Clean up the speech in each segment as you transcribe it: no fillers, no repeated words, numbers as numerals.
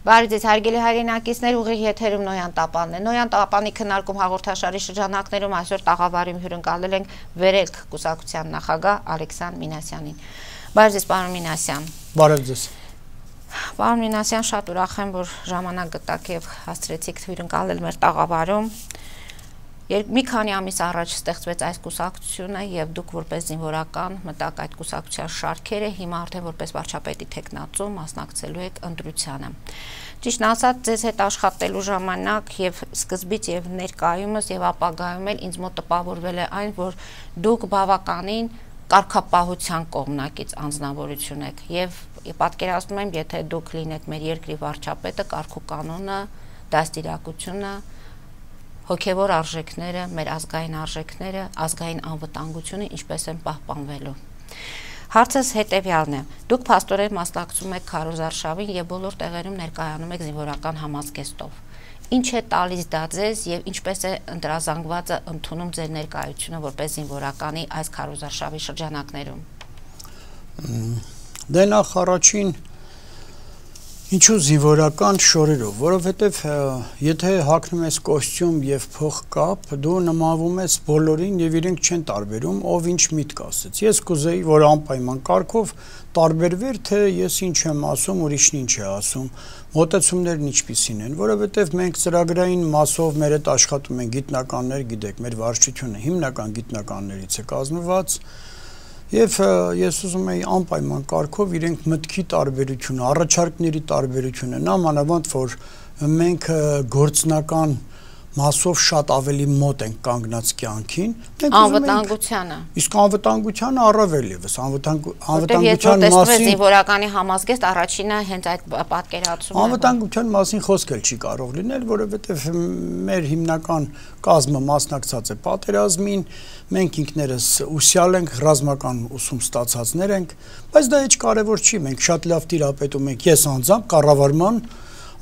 Բարի ձեզ հարգելի հայրենակիցներ, ուղիղ եթերում Նոյան Տապանն է։ Նոյան Տապանի քննարկում հաղորդաշարի շրջանակներում այսօր տաղավարում հյուրընկալել ենք Վերելք կուսակցության նախագահ Ալեքսան Մինասյանին։ Բարի ձեզ, պարոն Մինասյան։ Բարև ձեզ։ Պարոն Մինասյան, շատ ուրախ եմ, որ ժամանակ գտաք եւ հասցրեցիք հյուրընկալել մեր տաղավարում։ Մի քանի ամիս առաջ ստեղծվեց այս կուսակցությունը եւ դուք որպես զինվորական մտակ այդ կուսակցության շարքերը, հիմա արդեն որպես վարչապետի թեկնածու մասնակցելու եք ընտրությանը։ Ճիշտն ասած, ձեզ հետ աշխատելու ժամանակ եւ սկզբից եւ ներկայումս եւ ապագայում էլ ինձ մոտ տպավորվել է այն, որ դուք բավականին կարգապահության կողմնակից անձնավորություն եք եւ պատկերացնում եմ, եթե դուք լինեք մեր երկրի վարչապետը, կարգ ու կանոնը, դաստիարակությունը, հոգևոր արժեքները, մեր ազգային արժեքները, ազգային անվտանգությունը ինչպես են պահպանվելու։ Հարցս հետևյալն է. դուք փաստորեն մասնակցում եք քարոզարշավին եւ բոլոր տեղերում ներկայանում եք զինվորական համազգեստով։ Ինչ է տալիս դա ձեզ եւ ինչպես է ընտրազանգվածը ընդունում ձեր ներկայությունը որպես զինվորականի այս քարոզարշավի շրջանակներում։ Դե նախ առաջին ինչու զինվորական շորերով, որովհետև եթե հագնում ես կոստյում եւ փողկապ, դու նմանվում ես բոլորին եւ իրենք չեն տարբերում, ով ինչ միտք ասեց։ Ես կուզեի, որ անպայման կարգով տարբերվեր, թե ես ինչ եմ ասում, ուրիշն ինչ է ասում, մոտեցումներն ինչպիսին են, որովհետև մենք ծրագրային մասով մեր հետ աշխատում են գիտնականներ, գիտեք, մեր վարչությունը հիմնական գիտնականներից է կազմված։ Եվ ես ուզում եի անպայման կարգով իրենք մտքի տարբերությունը, առաջարկների տարբերությունը, նամանավանդ որ մենք գործնական մասով շատ ավելի մոտ ենք կանգնած կյանքին, անվտանգությանը։ Իսկ անվտանգությանը առավել եւս, անվտանգության մասին զինվորականի համազգեստ առաջինը հենց այդ պատկերացումն է։ Անվտանգության մասին խոսք էլ չի կարող լինել, որովհետեւ մեր հիմնական կազմը մասնակցած է պատերազմին, մենք ինքներս ուսյալ ենք, ռազմական ուսում ստացածներ ենք, բայց դա ինչ կարևոր չի, մենք շատ լավ տիրապետում ենք, ես անձամբ կառավարման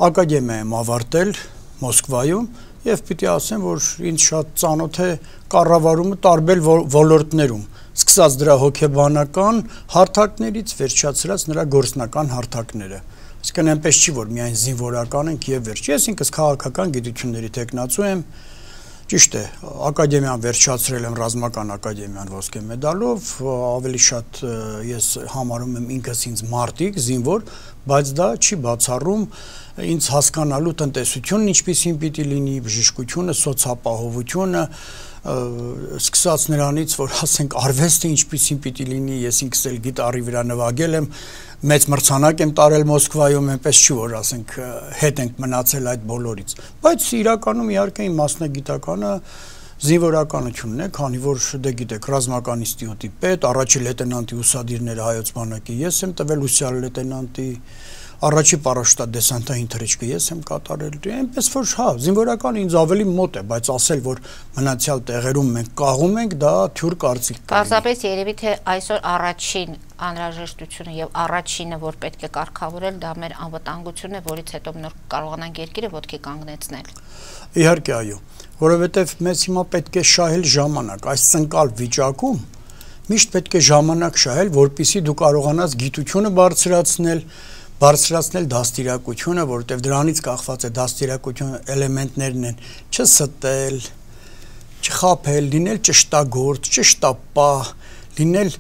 ակադեմիա եմ ավարտել Մոսկվայում եւ պիտի ասեմ, որ ինձ շատ ծանոթ է կառավարումը տարբեր ոլորտներում, սկսած դրա հոգեբանական հարթակներից, վերջացրած նրա գործնական հարթակները։ Այսինքն այնպես չի, որ միայն զինվորական ենք եւ վերջ։ Ես ինքս քաղաքական գիտությունների տեխնացու եմ, ճիշտ է, ակադեմիան վերջացրել եմ ռազմական ակադեմիան ոսկե մեդալով, ավելի շատ ես համարում եմ ինքս ինձ մարտիկ, զինվոր, բայց դա չի բացառում ինձ հասկանալու տնտեսությունն ինչպիսին պիտի լինի, բժշկությունը, սոցիալապահովությունը, սկսած նրանից, որ ասենք արվեստը ինչպիսին պիտի լինի, ես ինքս էլ գիտարի վրա նվագել եմ, մեծ մրցանակ եմ տարել Մոսկվայում, այնպես չի, որ ասենք հետ ենք մնացել այդ բոլորից, բայց իրականում իհարկե իմ մասնագիտականը զինվորականությունն է, քանի որ դե գիտեք, ռազմական ինստիտուտի պետ, առաջին լեյտենանտի ուսադիրները հայոց բանակի ես եմ տվել, ուսյալ լեյտենանտի առաջի պարաշտադեսանտային թռիչքը ես եմ կատարել, այնպես որ հա, զինվորական ինձ ավելի մոտ է, բայց ասել, որ մնացյալ տեղերում մենք կաղում ենք, դա թյուր կարծիք կլինի։ Պարզապես երևի թե այսօր առաջին անհրաժեշտությունը եւ առաջինը, որ պետք է կարգավորել, դա մեր անվտանգությունն է, որից հետո նոր կարողանանք երկիրը ոտքի կանգնեցնել։ Իհարկե, այո, որովհետեւ մեզ հիմա պետք է շահել ժամանակ, այս ցնկալ վիճակում միշտ պետք է ժամանակ շահել, որpիսի դու կարողանաս գիտությունը բարձրացնել դաստիարակությունը, որովհետև դրանից կախված է դաստիարակությունը էլեմենտներն են չստել, չխաբել, լինել ճշտագործ, ճշտապահ, լինել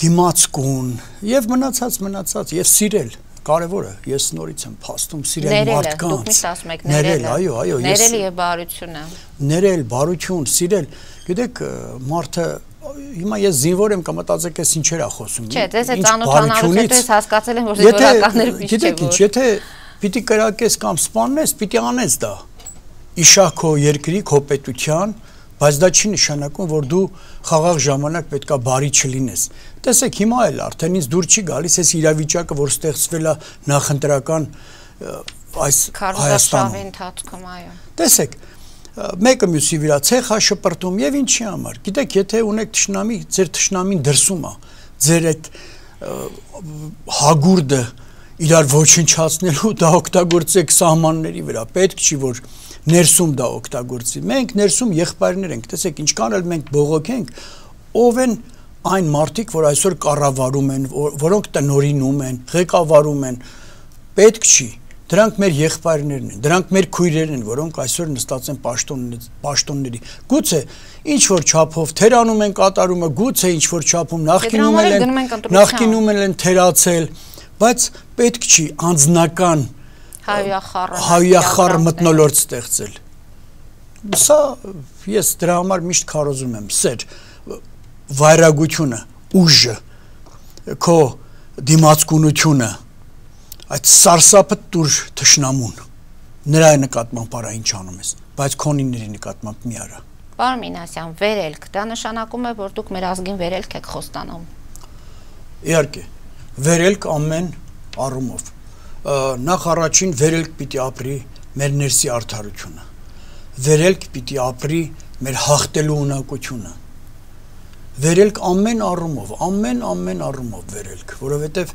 դիմացկուն եւ մնացած եւ սիրել, կարևորը, ես նորից եմ փաստում սիրել մարդկանց։ Դուք միշտ ասում եք ներել, այո, ներել եւ բարությունը։ Ներել, բարություն, սիրել, գիտեք, մարդը հիմա ես զինվոր եմ կմտածեք ես ինչեր ա խոսում։ Չէ, ձեզ է ծանոթանալուց հետո ես հասկացել եմ, որ զինվորականները միշտ գիտեք ինչ, եթե պիտի կրակես կամ սպանես, պիտի անես դա։ Իշահ քո երկրի, քո պետության, բայց դա չի նշանակում, որ դու խաղաղ ժամանակ պետքա բարի չլինես։ Տեսեք, հիմա էլ արդեն ինձ դուր չի գալիս այս իրավիճակը, որ ստեղծվել է նախընտրական այս Հայաստանի ընթացքում, այո։ Տեսեք, մեկը մյուսի վրա ցեխա շպրտում եւ ինչի համար։ Գիտեք, եթե ունեք թշնամի, ձեր թշնամին դրսում է, ձեր այդ հագուրդը իրար ոչնչացնելու դա օգտագործեք սահմանների վրա։ Պետք չի որ ներսում դա օգտագործի։ Մենք ներսում եղբայրներ ենք, տեսեք, ինչքան էլ մենք բողոքենք, ով են այն մարդիկ, որ այսօր կառավարում են, որոնք տնօրինում են, ղեկավարում են, պետք չի Դրանք մեր եղբայրներն են, դրանք մեր քույրերն են, որոնք այսօր նստած են պաշտոնների։ Գուցե ինչ որ չափով թերանում են կատարումը, գուցե ինչ որ չափում նախկինում են թերացել, բայց պետք չի անձնական հայախառ մթնոլորտ ստեղծել։ Սա ես դրա համար միշտ քարոզում եմ, սեր, վայրագությունը, ուժը, քո դիմացկունությունը, այդ սարսափը տուր թշնամուն, նրա նկատմամբ արա ինչ անում ես, բայց քոնիների նկատմամբ մի արա։ Պարոն Մինասյան, վերելք, դա նշանակում է, որ դուք մեր ազգին վերելք եք խոստանում։ Իհարկե, վերելք ամեն առումով։ Նախ առաջին վերելք պիտի ապրի մեր ներսի արդարությունը, վերելք պիտի ապրի մեր հաղթելու ունակությունը, վերելք ամեն առումով վերելք, որովհետև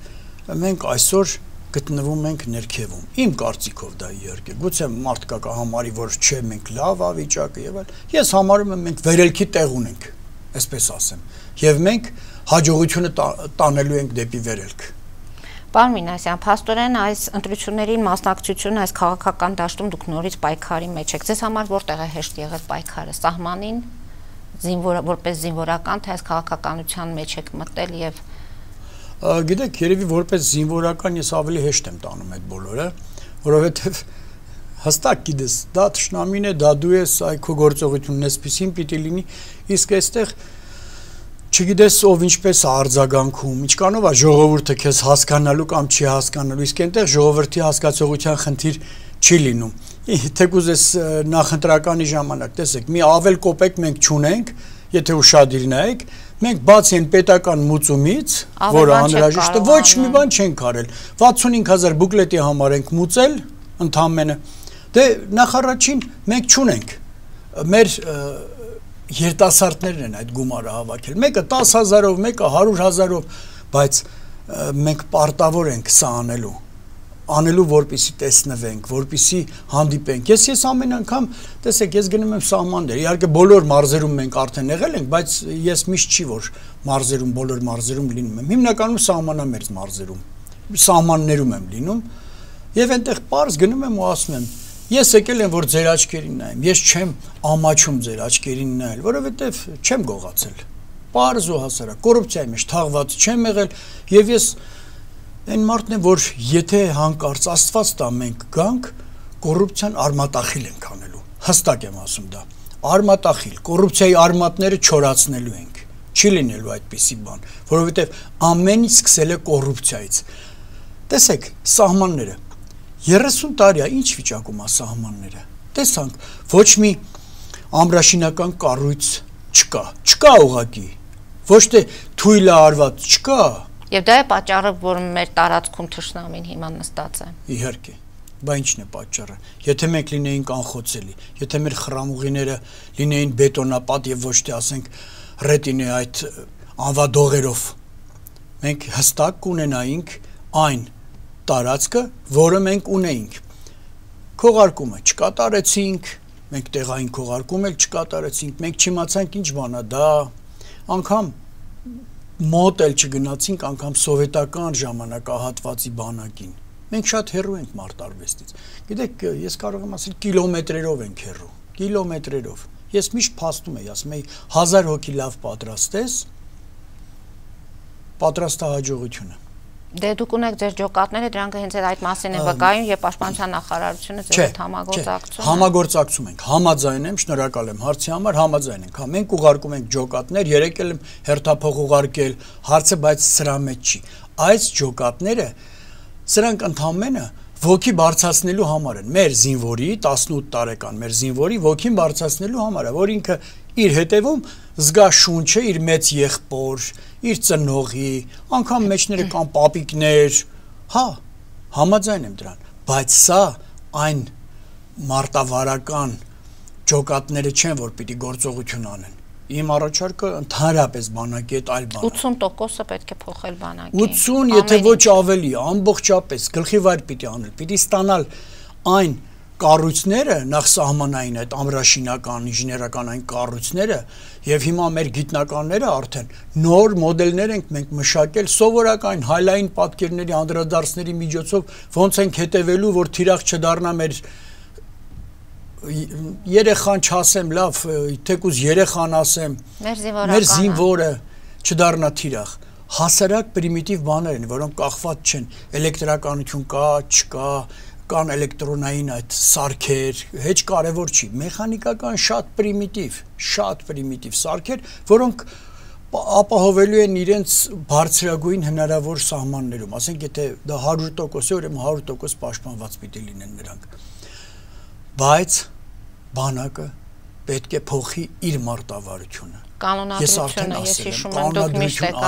մենք այսօր գտնվում ենք ներքևում, իմ կարծիքով դա իհարկե, գուցե մարդ կա համարի, որ չէ մենք լավ ավիճակը եւ այլ, ես համարում եմ մենք վերելքի տեղ ունենք, այսպես ասեմ, եւ մենք հաջողությունը տանելու ենք դեպի վերելք։ Պարոն Մինասյան, փաստորեն այս ընտրություններին մասնակցությունը այս քաղաքական դաշտում դուք նորից պայքարի մեջ եք։ Ձեզ համար որտեղ է հեշտ եղել պայքարը, սահմանին, որպես զինվորական, թե այս քաղաքականության մեջ եք մտել եւ Գիտեք, երևի որպես զինվորական ես ավելի հեշտ եմ տանում այդ բոլորը, որովհետև հստակ գիտես, դա թշնամին է, դա դու ես, այ քո գործողությունն էսպիսին պիտի լինի, իսկ այստեղ չգիտես ով ինչպես է արձագանքում, ինչքանով է ժողովուրդը քեզ հասկանալու կամ չի հասկանալու, իսկ այնտեղ ժողովրդի հասկացողության խնդիր չի լինում։ Թեկուզ այս նախընտրականի ժամանակ, տեսեք, մի ավել կոպեկ մենք չունենք, եթե ուշադիր նայեք, մենք բացի այն պետական մուծումից, որը անհրաժեշտ է, ոչ մի բան չենք արել։ 65000 բուկլետի համար ենք մուծել ընդամենը։ Դե նախարարին մենք չունենք։ Մեր երիտասարդներն են այդ գումարը հավաքել։ Մեկը 10000-ով, մեկը 100,000-ով, բայց մենք պարտավոր ենք սա անելու, որպեսի տեսնվենք, որպեսի հանդիպենք։ Ես ամեն անգամ, տեսեք, ես գնում եմ սահմաններ, իհարկե բոլոր մարզերում մենք արդեն եղել ենք, բայց ես միշտ չի որ մարզերում, բոլոր մարզերում լինում եմ։ Հիմնականում սահմանամերձ մարզերում, սահմաններում եմ լինում, եւ այնտեղ պարզ գնում եմ ու ասում եմ, ես եկել եմ որ ձեր աչքերին նայեմ, ես չեմ ամաչում ձեր աչքերին նայել, որովհետեւ չեմ գողացել։ Պարզ ու հասարակ, կոռուպցիայի մեջ թաղված չեմ եղել եւ ես Այն մարդն է, որ եթե հանկարծ Աստված տա մենք գանք, կոռուպցիան արմատախիլ ենք անելու, հստակ եմ ասում դա, արմատախիլ, կոռուպցիայի արմատները չորացնելու ենք, չի լինելու այդպիսի բան, որովհետև ամեն ինչ սկսել է կոռուպցիայից։ Տեսեք, սահմանները, 30 տարի է, ինչ վիճակում է սահմանները, տեսանք, ոչ մի ամրաշինական կառույց չկա ուղղակի, ոչ թե թույլ է արված, չկա։ Եվ դա է պատճառը, որ մեր տարածքում թշնամին հիմա նստած է։ Իհարկե, բա ինչն է պատճառը։ Եթե մենք լինեինք անխոցելի, եթե մեր խրամուղիները լինեին բետոնապատ եւ ոչ թե ասենք ռետինե այդ անվադողերով, մենք հստակ կունենայինք այն տարածքը, որը մենք ունեինք։ Քողարկումը չկատարեցինք, մենք տեղային քողարկում էլ չկատարեցինք, մենք չիմացանք ինչ բան է դա, անգամ մոտ էլ չգնացինք անգամ սովետական ժամանակահատվածի բանակին։ Մենք շատ հեռու ենք մարտարվեստից։ Գիտեք, ես կարող եմ ասել կիլոմետրերով ենք հեռու, կիլոմետրերով։ Ես միշտ փաստում եմ, ասում եմ 1000 հոգի լավ պատրաստես, պատրաստահաջողությունը։ Դե դուք ունեք ձեր ջոկատները, դրանք հենց այդ մասին են վկայում եւ պաշտպանության նախարարությունը ձեր հետ համագործակցում է։ Համագործակցում ենք, համաձայն եմ, շնորհակալ եմ հարցի համար, համաձայն ենք։ Մենք ուղարկում ենք ջոկատներ, երեկել եմ հերթափոխ ուղարկել, հարցը բայց սրա մեջ չի։ Այս ջոկատները սրանք ընդհանրապես ոգի բարձրացնելու համար են։ Մեր զինվորի 18 տարեկան մեր զինվորի ոգին բարձրացնելու համար է, որ ինքը իր հետևում զգա շունչը իր մեծ եղբոր, իր ծնողի, անգամ մեջները կան պապիկներ, հա, համաձայն եմ դրան, բայց սա այն մարտավարական ջոկատները չեն, որ պիտի գործողություն անեն։ Իմ առաջարկը ընդհանրապես բանակի հետ այլ բան է։ 80%-ը պետք է փոխել բանակի։ 80, եթե ոչ ավելի, ամբողջապես գլխի վայր պիտի անել, պիտի ստանալ այն կառույցները նախ սահմանային այդ ամրաշինական, ինժեներական այն կառույցները եւ հիմա մեր գիտնականները արդեն նոր մոդելներ ենք մենք մշակել սովորական հայլային պատկերների անդրադարձների միջոցով ոնց ենք հետևելու որ թիրախ չդառնա մեր երեխան չասեմ լավ թեկուզ երեխան ասեմ մեր զինվորը չդառնա թիրախ հասարակ պրիմիտիվ բաներ են որոնք կախված չեն էլեկտրականություն կա չկա կան էլեկտրոնային այդ սարքեր, հեչ կարևոր չի, մեխանիկական շատ պրիմիտիվ սարքեր, որոնք ապահովելու են իրենց բարձրագույն հնարավոր սահմաններում, ասենք եթե դա 100% է, ուրեմն 100% պաշտպանված պիտի լինեն նրանք։ Բայց բանակը պետք է փոխի իր մարտավարությունը։ Կանոնադրությունը, ես հիշում եմ դուք միշտ եք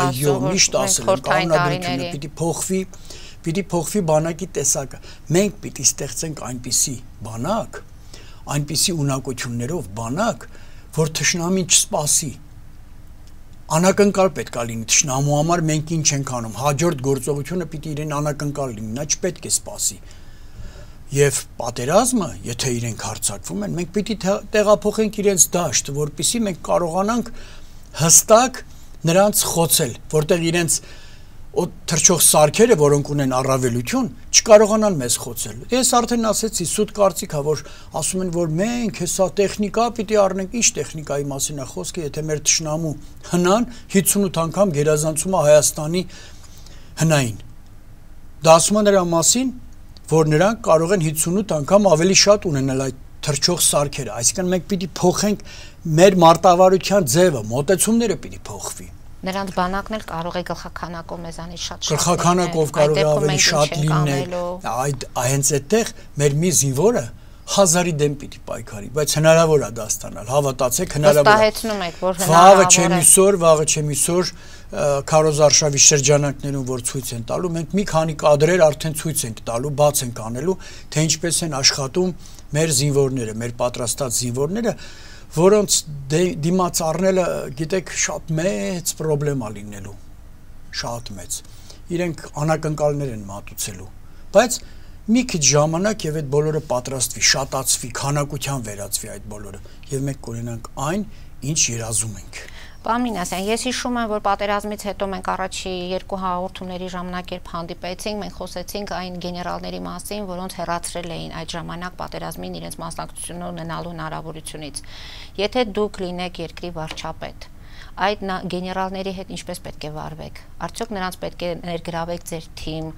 ասում, որ կանոնադրությունը պիտի փոխվի Պիտի փոխվի բանակի տեսակը։ Մենք պիտի ստեղծենք այնպիսի բանակ, այնպիսի ունակություններով բանակ, որ թշնամին չսպասի։ Անակնկալ պետք է լինի թշնամու համար մենք ինչ ենք անում։ Հաջորդ գործողությունը պիտի իրեն անակնկալ լինի, նա չպետք է սպասի։ Եվ պատերազմը, եթե իրենք հարձակվում են, մենք պիտի տեղափոխենք իրենց դաշտ, որպեսզի մենք կարողանանք հստակ նրանց խոցել, որտեղ իրենց թրջող սարքերը, որոնք ունեն առավելություն, չկարողանան մեզ խոցել։ Ես արդեն ասեցի, սուտ կարծիք է, որ ասում են, որ մենք հեսա տեխնիկա պիտի առնենք, ինչ տեխնիկայի մասին է խոսքը, եթե մեր թշնամու հնան 58 անգամ գերազանցում է Հայաստանի հնային։ Դա ասում է նրա մասին, որ նրանք կարող են 58 անգամ ավելի շատ ունենալ այդ թրջող սարքերը, այսինքն մենք պիտի փոխենք մեր մարտավարության ձևը, մոտեցումները պիտի փոխվի։ Նրանց բանակն էլ կարող է գլխականակով մեզանից շատ գլխականակով կարող է ավելի շատ լինել, հենց այդտեղ մեր մի զինվորը 1000-ի դեմ պիտի պայքարի, բայց հնարավոր է դա ստանալ, հավատացեք, հնարավոր է։ Վստահեցնում եք, որ հնարավոր է։ Վաղը չեմ իսօր քարոզարշավի շրջանակներում որ ցույց են տալու, մենք մի քանի կադրեր արդեն ցույց ենք տալու, բաց ենք անելու, թե ինչպես են աշխատում մեր զինվորները, մեր պատրաստած զինվորները, որոնց դիմաց առնելը, գիտեք, շատ մեծ պրոբլեմա լինելու, շատ մեծ։ Իրենք անակնկալներ են մատուցելու, բայց մի քիչ ժամանակ եւ այդ բոլորը պատրաստվի, շատացվի, քանակության վերածվի այդ բոլորը, եւ մենք կունենանք այն, ինչ երազում ենք։ Պարոն Մինասյան, ես հիշում եմ, որ պատերազմից հետո մենք առաջի 2 հաղորդումների ժամանակ երբ հանդիպեցինք, մենք խոսեցինք այն գեներալների մասին, որոնց հեռացրել էին այդ ժամանակ պատերազմին իրենց մասնակցությունը ունենալու հնարավորությունից։ Եթե դուք լինեք երկրի վարչապետ, այդ գեներալների հետ ինչպես պետք է վարվեք։ Արդյոք նրանց պետք է ներգրավեք ձեր թիմ,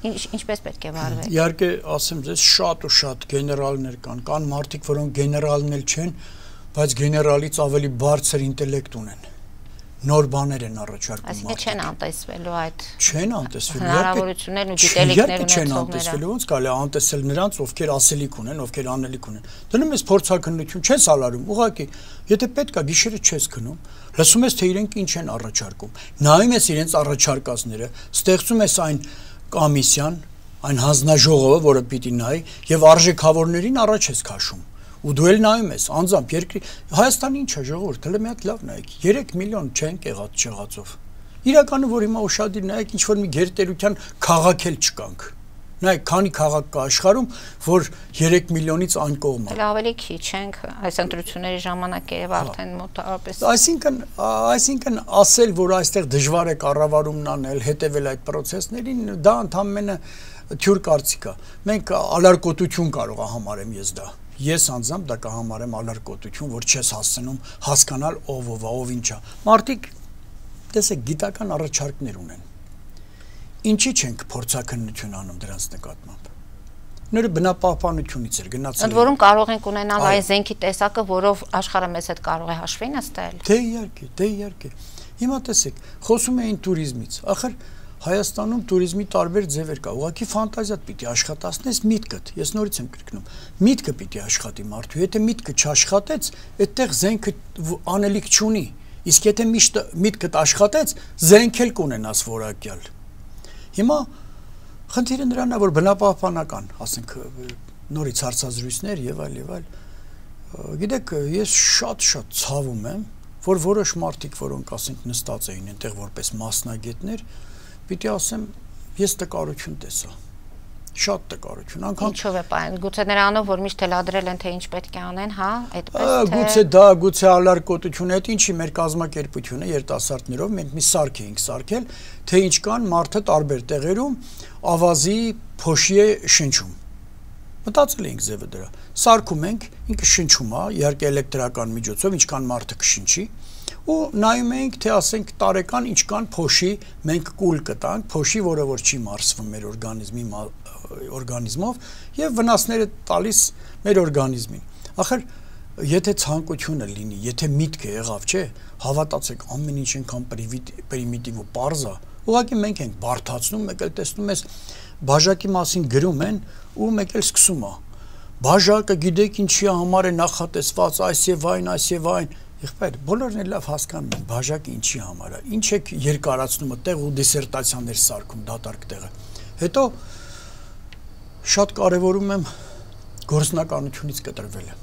ինչպես պետք է վարվեք։ Իհարկե, ասեմ ձեզ, շատ ու շատ գեներալներ կան մարդիկ, որոնք գեներալներ չեն, բայց գեներալից ավելի բարձր ինտելեկտ ունեն։ Նոր բաներ են առաջարկում։ Այսինքն չեն անտեսվելու այդ։ Չեն անտեսվելու։ Հնարավորություններն ու գիտելիքներն չեն անտեսվելու, ոնց կարելի է անտեսել նրանց, ովքեր ասելիք ունեն, ովքեր անելիք ունեն։ Դնում ես փորձաքննություն, չես ալարում, ուղղակի, եթե պետք է գիշերը չես քնում, լսում ես թե իրենք ինչ են առաջարկում։ Նայում ես իրենց առաջարկածները, ստեղծում ես այն կոմիսիան, այն հանձնաժողովը, որը պիտի նայի, եւ արժեքավորներին առաջ ես քաշում։ Ու դու էլ նայում ես, անձամբ երկրի Հայաստանի ինչ է ժողովուրդ, հələ մի հատ լավ նայեք, 3 միլիոն չեն եղած չեղածով։ Իրականում որ հիմա ուշադիր նայեք, ինչ որ մի գերտերության քաղաք էլ չկանք։ Նայեք, քանի քաղաք կա աշխարհում, որ 3 միլիոնից այն կողմ է։ Դե ավելի քիչ ենք, այս ընտրությունների ժամանակ երբ արդեն մոտավորապես։ Այսինքն ասել, որ այստեղ դժվար է կառավարումն անել, հետևել այդ process-ներին, դա ընդհանրապես թյուր կարծիք է։ Մենք ալարկոտություն կարող է համարեմ ես դա։ Ես անձամբ դա կհամարեմ ալարկոտություն, որ չես հասցնում հասկանալ ով ով է, ով ինչ է։ Մարդիկ տեսեք գիտական առաջարկներ ունեն։ Ինչի չենք փորձաքննություն անում դրանց նկատմամբ։ Նորը բնապահպանությունից էր գնացել։ Ընդ որում կարող ենք ունենալ այն զենքի տեսակը, որով աշխարհը մեզ հետ կարող է հաշվի նստել։ Դե իհարկե։ Հիմա տեսեք, խոսում էին туриզմից։ Ախր Հայաստանում туриզմի տարբեր ձևեր կա։ Ուղղակի ֆանտազիատ պիտի աշխատացնես միտքդ։ Ես նորից եմ կրկնում։ Միտքը պիտի աշխատի մարդու։ Եթե միտքը չաշխատեց, այդտեղ զենքը անելիք չունի։ Իսկ եթե միտքդ աշխատեց, զենք էլ կունենաս որակյալ։ Հիմա խնդիրը նրան է, որ բնապահպանական, ասենք, նորից հարցազրույցներ եւ այլ։ Գիտեք, ես շատ ցավում եմ, որ որոշ մարդիկ, որոնք ասենք նստած էին այնտեղ որպես մասնագետներ, պիտի ասեմ, ես տկարություն տեսա։ շատ տկարություն, անգամ ինչով է պայն, գուցե նրանով, որ միշտ թելադրել են, թե ինչ պետք է անեն, հա, այդպես թե գուցե դա, գուցե ալարկոտություն, այդ ինչի մեր կազմակերպությունը երիտասարդներով մենք մի սարք էինք սարքել, թե ինչ կան մարդը տարբեր տեղերում ավազի փոշի է շնչում։ Մտածել էինք ձևը դրա։ Սարքում ենք, ինքը շնչում է, իհարկե էլեկտրական միջոցով, ինչքան մարդը կշնչի, ու նայում էինք, թե ասենք տարեկան ինչքան փոշի մենք կուլ կտանք, փոշի, որը որ չի մարսվում մեր օրգանիզմով եւ վնասները տալիս մեր օրգանիզմին։ Ախր եթե ցանկությունը լինի, եթե միտքը եղավ, չէ, հավատացեք, ամեն ինչ այնքան պրիմիտիվ ու պարզ է, ուղղակի մենք ենք բարթացնում, մեկ էլ տեսնում ես բաժակի մասին գրում են ու մեկ էլ սկսում է։ Բաժակը գիտեք ինչի համար է նախատեսված, այս եւ այն, եղբայր, բոլորն էլ լավ հասկանում են, բաժակը ինչի համար է, ինչ եք երկարացնում այդտեղ ու դիսերտացիաներ սարքում դատարկ տեղը։ Հետո շատ կարևորում եմ գործնականությունից կտրվելը։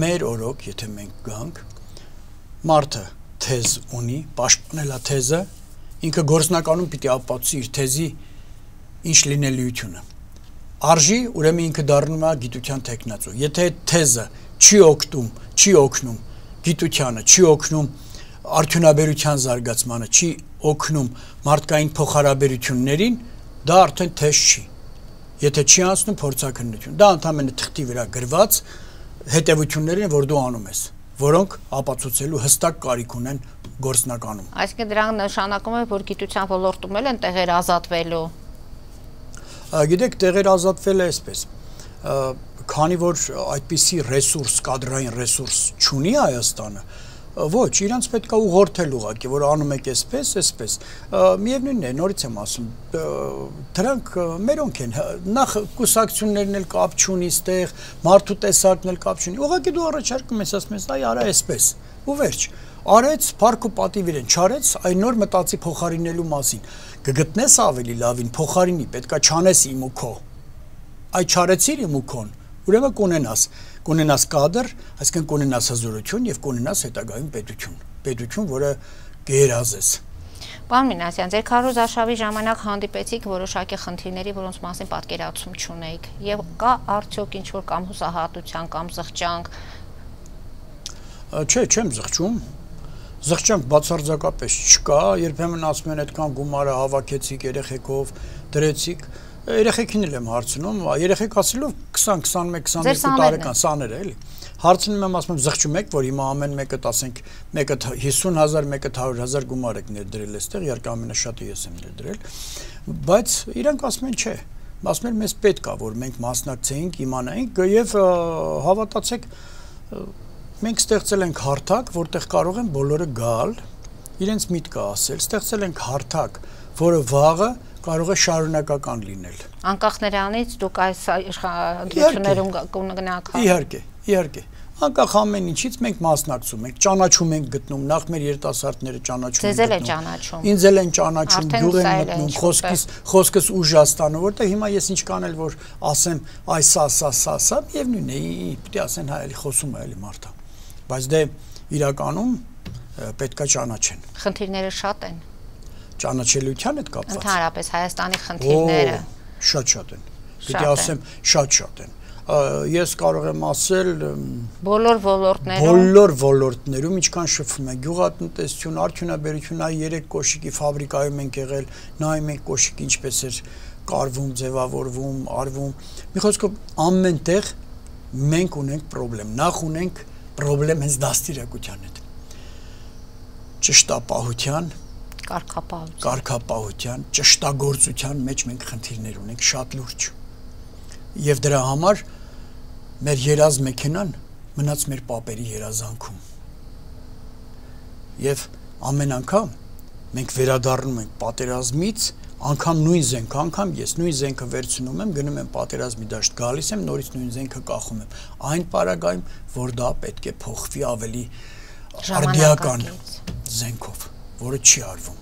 Մեր օրոք, եթե մենք գանք, մարդը թեզ ունի, պաշտպանել է թեզը, ինքը գործնականում պիտի ապացուցի իր թեզի ինչ լինելիությունը։ Արժի, ուրեմն ինքը դառնում է գիտության տեխնացու։ Եթե այդ թեզը չի օգնում գիտությանը, չի օգնում արդյունաբերության զարգացմանը, չի օգնում մարդկային փոխհարաբերություններին, դա արդեն թեզ չի։ Եթե չի անցնում փորձաքննություն, դա ընդհանրապես թղթի վրա գրված հետևություններ են, որ դու անում ես, որոնք ապացուցելու հստակ կարիք ունեն գործնականում։ Այսինքն դրանք նշանակում է, որ գիտության ոլորտում էլ են տեղեր ազատվելու։ Գիտեք, տեղեր ազատվել է այսպես, քանի որ այդպիսի ռեսուրս, կադրային ռեսուրս չունի Հայաստանը, ոչ, իրանց պետք է ուղղորդել ուղղակի, որ անում եք այսպես, միևնույնն է, նորից եմ ասում, դրանք մերոնք են, նախ կուսակցություններն էլ կապ չունի ստեղ, մարդու տեսակն էլ կապ չունի, ուղղակի դու առաջարկում ես, ասում ես, այ արա այսպես, ու վերջ, արեց, փառք ու պատիվ իրեն չարեց, այն նոր մտածի փոխարինելու մասին, կգտնես ավելի լավին, փոխարինի, պետքա չանես իմ ու քո, այ չարեցիր իմ ու քոն, ուրեմն կունենաս կադր, այսինքն կունենաս հզորություն եւ կունենաս հետագայում պետություն, որը կերազես։ Պարոն Մինասյան, ձեր քարոզարշավի ժամանակ հանդիպեցիք որոշակի խնդիրների, որոնց մասին պատկերացում չունեիք, եւ կա արդյոք ինչ-որ կամ հուսահատության կամ զղջանք։ Չէ, չեմ զղջում։ Զղջանք բացարձակապես չկա, երբեմն ասում են այդքան գումարը հավաքեցիք երեխեքով, դրեցիք, երեխեքին էլ եմ հարցնում, երեխեք ասելով 20-21-22 տարեկան սաներ է, էլի։ Հարցնում եմ, ասում եմ, զղջում եք, որ հիմա ամեն մեկը, ասենք, մեկը 50,000, մեկը 100,000 գումար եք ներդրել այստեղ, իհարկե ամենաշատը ես եմ ներդրել, բայց իրանք ասում են չէ, ասում են մեզ պետք է, որ մենք մասնակցեինք, իմանայինք եւ հավատացեք, մենք ստեղծել ենք հարթակ, որտեղ կարող են բոլորը գալ, իրենց միտքը ասել, ստեղծել ենք հարթակ, որը վաղը կարող է շարունակական լինել։ Անկախ նրանից դուք այս ընտրություններում կգնաք։ Իհարկե։ Անկախ ամեն ինչից մենք մասնակցում ենք, ճանաչում ենք գտնում, նախ մեր երիտասարդները ճանաչում են գտնում։ Ձեզ էլ են ճանաչում։ Ինձ էլ են ճանաչում, գյուղ են մտնում, խոսքս ուժ աստանը, որտեղ հիմա ես ինչ կանել, որ ասեմ, այ սա, միևնույն է, պիտի ասեն հա, էլի խոսում է, էլի մարդը։ Բայց դե իրականում պետքա ճանաչեն։ Խնդիրները շատ են։ Ճանաչելիության հետ կապված։ Ընդհանրապես Հայաստանի խնդիրները շատ են։ Պիտի ասեմ, շատ են։ Ես կարող եմ ասել բոլոր ոլորտներում ինչքան շփվում է գյուղատնտեսություն, արդյունաբերություն, այ 3 կոշիկի ֆաբրիկայում ենք եղել, նայում ենք կոշիկը ինչպես էր կարվում, ձևավորվում, արվում։ Մի խոսքով ամենտեղ մենք ունենք խնդրեմ, նախ ունենք խնդրեմ հենց դաստիարակության հետ։ Ճշտապահության կարգապահության, ճշտագործության մեջ մենք խնդիրներ ունենք շատ լուրջ։ Եվ դրա համար մեր երազ մեքենան մնաց մեր պապերի երազանքում։ Եվ ամեն անգամ մենք վերադառնում ենք պատերազմից, անգամ նույն զենքը, անգամ ես նույն զենքը վերցնում եմ, գնում եմ պատերազմի դաշտ, գալիս եմ, նորից նույն զենքը կախում եմ։ Այն պարագայում, որ դա պետք է փոխվի ավելի արդիական զենքով, որը չի արվում։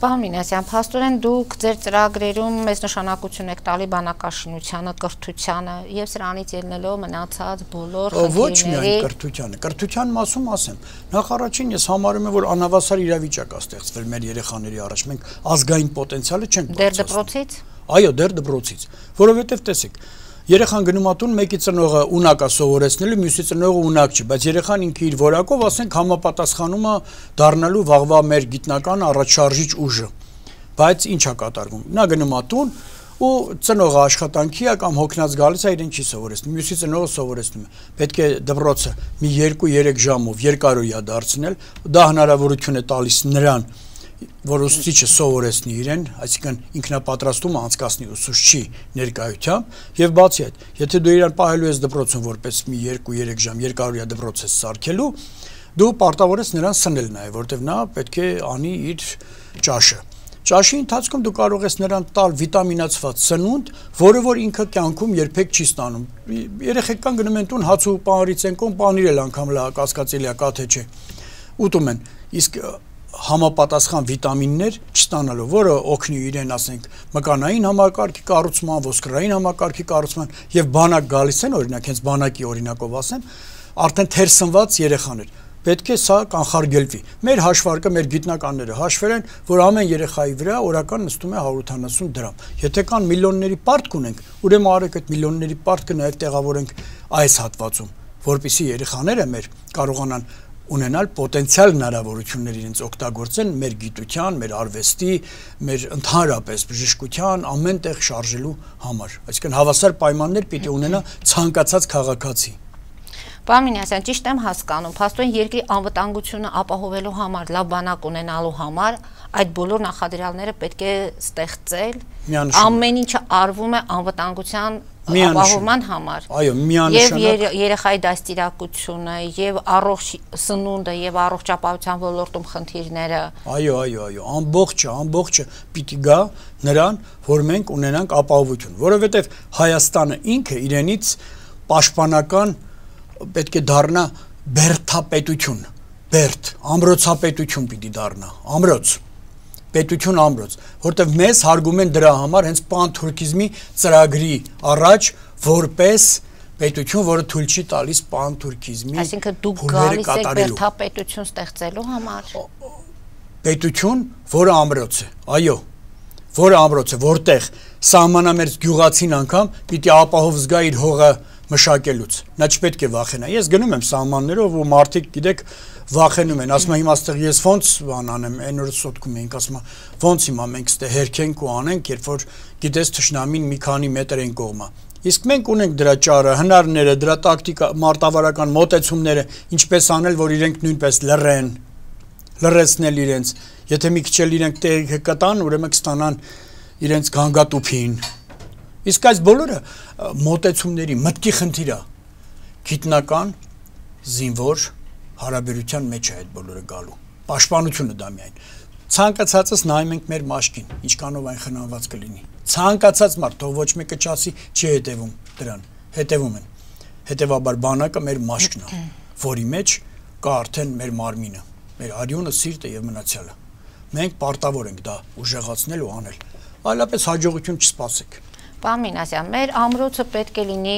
Պարոն Մինասյան, փաստորեն դուք ձեր ծրագրերում մեծ նշանակություն եք տալի բանակաշինությանը, կրթությանը եւ սրանից ելնելով մնացած բոլոր Ոչ միայն կրթությանը, կրթության մասում ասեմ, նախ առաջին ես համարում եմ, որ անհավասար իրավիճակ է ստեղծվել մեր երեխաների առաջ, մենք ազգային պոտենցիալը չենք դեռ դպրոցից։ Այո, դեռ դպրոցից, որովհետեւ տեսեք, երեխան գնում ա տուն, մեկի ծնողը ունակ է սովորեցնելու, մյուսի ծնողը ունակ չի, բայց երեխան ինքը իր որակով, ասենք, համապատասխանում է դառնալու վաղվա մեր գիտնական առաջարժիչ ուժը։ Բայց ինչ է կատարվում։ Նա գնում է տուն ու ծնողը աշխատանքի է կամ հոգնած գալիս է, իրեն չի սովորեցնում, մյուսի ծնողը սովորեցնում է։ Պետք է դպրոցը մի 2-3 ժամով երկարօրյա դարձնել, դա հնարավորություն է տալիս նրան, որ ուսուցիչը սովորեցնի իրեն, այսինքն ինքնապատրաստումը անցկացնի ուսուցչի ներկայությամբ եւ բացի այդ, եթե դու իրան պահելու ես դպրոցում որպես մի 2-3 ժամ երկարօրյա դպրոց ես սարքելու, դու պարտավոր ես նրան սնել նաեւ, որտեւ նա պետք է անի իր ճաշը։ Ճաշի ընթացքում դու կարող ես նրան տալ վիտամինացված սնունդ, որը որ ինքը կյանքում երբեք չի ստանում։ Երեխեք կան գնում են տուն հաց ու պանրից են կոն, պանիր էլ անգամ լա կասկածելի է, կա թե չէ։ Ուտում են։ Իսկ համապատասխան վիտամիններ չստանալու, որը օգնի իրեն, ասենք, մկանային համակարգի կառուցման, ոսկրային համակարգի կառուցման եւ բանակ գալիս են, օրինակ, հենց բանակի օրինակով ասեմ, արդեն թերսնված երեխաներ։ Պետք է սա կանխարգելվի։ Մեր հաշվարկը, մեր գիտնականները հաշվել են, որ ամեն երեխայի վրա օրական նստում է 180 դրամ։ Եթե կան միլիոնների պարտք ունենք, ուրեմն արեք այդ միլիոնների պարտքը նաեւ տեղավորենք այս հատվածում, որպեսզի երեխաները մեր կարողանան ունենալ պոտենցիալ հնարավորություններ իրենց օգտագործեն մեր գիտության, մեր արվեստի, մեր ընդհանրապես բժշկության ամեն տեղ շարժելու համար։ Այսինքն հավասար պայմաններ պիտի ունենա ցանկացած քաղաքացի։ Պարոն Մինասյան, ճիշտ եմ հասկանում, փաստորեն երկրի անվտանգությունը ապահովելու համար, լավ բանակ ունենալու համար այդ բոլոր նախադրյալները պետք է ստեղծել, ամեն ինչը արվում է անվտանգության ապահովման համար։ Այո, միանշանակ։ Եվ երեխայի դաստիարակությունը, եւ առողջ սնունդը, եւ առողջապահության ոլորտում խնդիրները։ Այո, ամբողջը պիտի գա նրան, որ մենք ունենանք ապահովություն, որովհետեւ Հայաստանը ինքը իրենից պաշտպանական պետք է դառնա բերդապետություն, ամրոցապետություն պիտի դառնա, պետություն ամրոց, որտեղ մեզ հարգում են դրա համար հենց պանթուրքիզմի ծրագրի առաջ որպես պետություն, որը թույլ չի տալիս պանթուրքիզմի։ Այսինքն դուք գալիս եք բերդապետություն ստեղծելու համար։ Պետություն, որը ամրոց է, այո, որը ամրոց է, որտեղ սահմանամերձ գյուղացին անգամ պիտի ապահով զգա իր հողը մշակելուց։ Նա չպետք է վախենա։ Ես գնում եմ սահմաններով ու մարդիկ, գիտեք, վախենում են, ասում են հիմա ստեղ ես ոնց անեմ, այն օրը սոտքում էինք, ասում են ոնց հիմա մենք ստեղ հերքենք ու անենք, երբ որ գիտես թշնամին մի քանի մետր են կողմա։ Իսկ մենք ունենք դրա ճարը, հնարները, դրա տակտիկա, մարտավարական մոտեցումները, ինչպես անել, որ իրենք նույնպես լռեցնել իրենց։ Եթե մի քիչ էլ իրենք տեղը կտան, ուրեմն կստանան իրենց գանգատուփին։ Իսկ այս բոլորը մոտեցումների մտքի խնդիր է, գիտնական, զինվոր հարաբերության մեջ է այդ բոլորը գալու, պաշտպանությունը դա միայն, ցանկացածս նայում ենք մեր մաշկին, ինչքանով այն խնամված կլինի, ցանկացած մարդ, թող ոչ մեկը չասի, չի հետևում դրան, հետևում են, հետևաբար բանակը մեր մաշկն է, որի մեջ կա արդեն մեր մարմինը, մեր արյունը, սիրտը եւ մնացյալը, մենք պարտավոր ենք դա ուժեղացնել ու անել, այլապես հաջողություն չսպասեք։ Պարոն Մինասյան, մեր ամրոցը պետք է լինի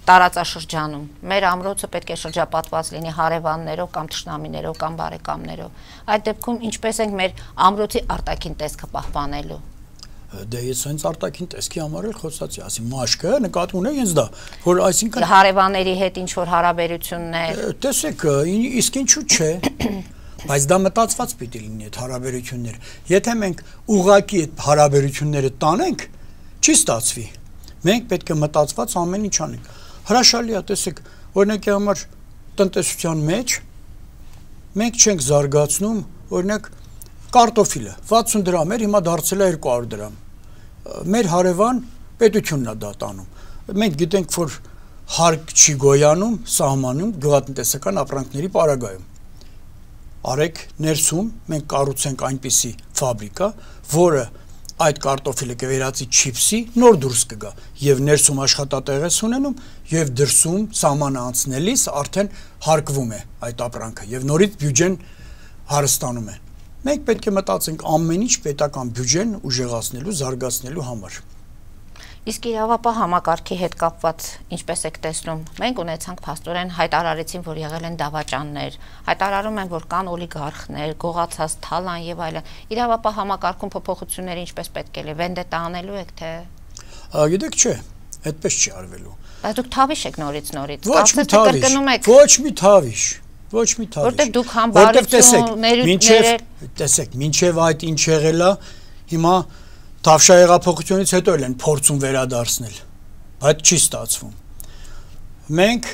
տարածաշրջանում, մեր ամրոցը պետք է շրջապատված լինի հարևաններով կամ թշնամիներով կամ բարեկամներով։ Այդ դեպքում ինչպես ենք մեր ամրոցի արտաքին տեսքը պահպանելու։ Դե ես հենց արտաքին տեսքի համար էլ խոսացի, ասի մաշկը նկատի ունեք հենց դա, որ այսինքն հարևանների հետ ինչ որ հարաբերություններ։ Տեսեք, իսկ ինչու՞ չէ։ Բայց դա մտածված պիտի լինի այդ հարաբերությունները։ Եթե մենք ուղղակի այդ հարաբերությունները տանենք, չի ստացվի։ Մենք պետք է մտածված ամեն ինչ անենք։ Հրաշալի է, տեսեք, օրինակի համար տնտեսության մեջ մենք չենք զարգացնում, օրինակ կարտոֆիլը 60 դրամ էր, հիմա դարձել է 200 դրամ։ Մեր հարևան պետությունն է դա տանում։ Մենք գիտենք, որ հարկ չի գոյանում սահմանում գյուղատնտեսական ապրանքների պարագայում։ Արեք ներսում մենք կառուցենք այնպիսի ֆաբրիկա, որը այդ կարտոֆիլը կվերածի չիպսի, նոր դուրս կգա եւ ներսում աշխատատեղ ես ունենում եւ դրսում սահմանը անցնելիս արդեն հարկվում է այդ ապրանքը եւ նորից բյուջեն հարստանում է։ Մենք պետք է մտածենք ամեն ինչ պետական բյուջեն ուժեղացնելու, զարգացնելու համար։ Իսկ իրավապահ համակարգի հետ կապված ինչպես եք տեսնում, մենք ունեցանք փաստորեն հայտարարեցին, որ եղել են դավաճաններ, հայտարարում են, որ կան օլիգարխներ, գողացած թալան եւ այլն։ Իրավապահ համակարգում փոփոխությունները ինչպես պետք է լինի, վենդետա անելու եք թե։ Գիտեք, չէ, այդպես չի արվելու։ Բայց դուք թավիշ եք նորից։ Ոչ մի թավիշ։ Որտեղ դուք համբարություններ տեսեք, մինչև այդ ինչ եղել է, հիմա Թավշահեղափոխությունից հետո էլ են փորձում վերադարձնել, բայց չի ստացվում։ Մենք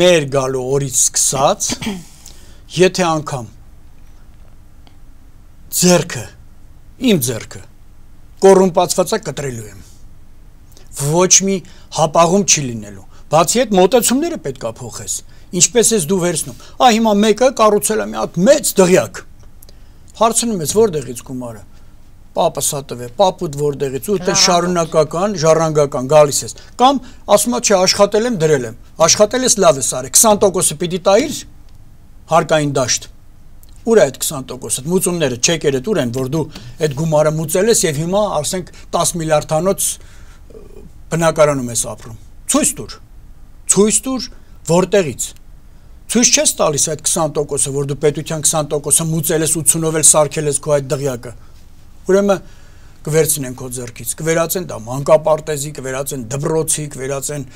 մեր գալու օրից սկսած, եթե անգամ իմ ձեռքը կոռումպացվածա կտրելու եմ, ոչ մի հապաղում չի լինելու, բացի այդ մոտեցումները պետք է փոխես, ինչպես ես դու վերցնում, հիմա մեկը կառուցել է մի հատ մեծ դղյակ, հարցնում ես որտեղից գումարը, պապս հատվե, պապուդ որտեղից, ու այդպես շարունակական, ժառանգական գալիս ես, կամ ասում է չէ, աշխատել եմ, դրել եմ, աշխատել ես լավ ես արել, 20%-ը պիտի տայիր հարկային դաշտ, ուր է այդ 20%-ը, մուծումները, չեկերը ուր են, որ դու այդ գումարը մուծել ես եւ հիմա ասենք 10 միլիարդանոց բնակարանում ես ապրում, ցույց տուր, որտեղից, ցույց չես տալիս այդ 20%-ը, որ դու պետության 20%-ը մուծել ես 80-ով էլ սարքել ես քո այդ դղյակը, ուրեմն կվերցնեն քո ձեռքից, կվերածեն դա մանկապարտեզի, կվերածեն դպրոցի, կվերածեն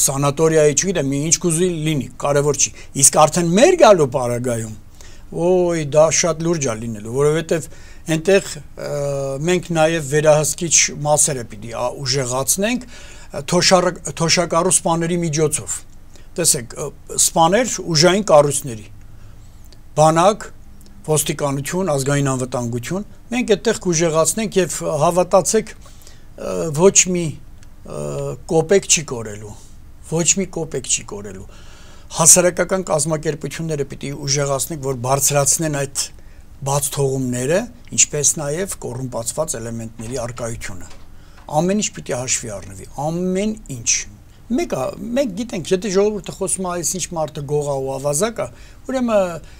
սանատորիայի, չգիտեմ, ինչ կուզի լինի, կարևոր չի։ Իսկ արդեն մեր գալու պարագայում, դա շատ լուրջ է լինելու, որովհետև այնտեղ մենք նաև վերահսկիչ մասերը պիտի ուժեղացնենք թոշակառու սպաների միջոցով։ Տեսեք, սպաներ ուժային կառույցների, բանակ, ոստիկանություն, ազգային անվտանգություն, մենք այդտեղ կուժեղացնենք եւ հավատացեք ոչ մի կոպեկ չի կորելու, հասարակական կազմակերպությունները պիտի ուժեղացնենք, որ բարձրացնեն այդ բաց թողումները, ինչպես նաեւ կոռումպացված էլեմենտների արկայությունը։ Ամեն ինչ պիտի հաշվի առնվի, ամեն ինչ։ Մենք գիտենք, եթե ժողովուրդը խոսում է այս ինչ մարդը գողա ու ավազակ է, ուրեմն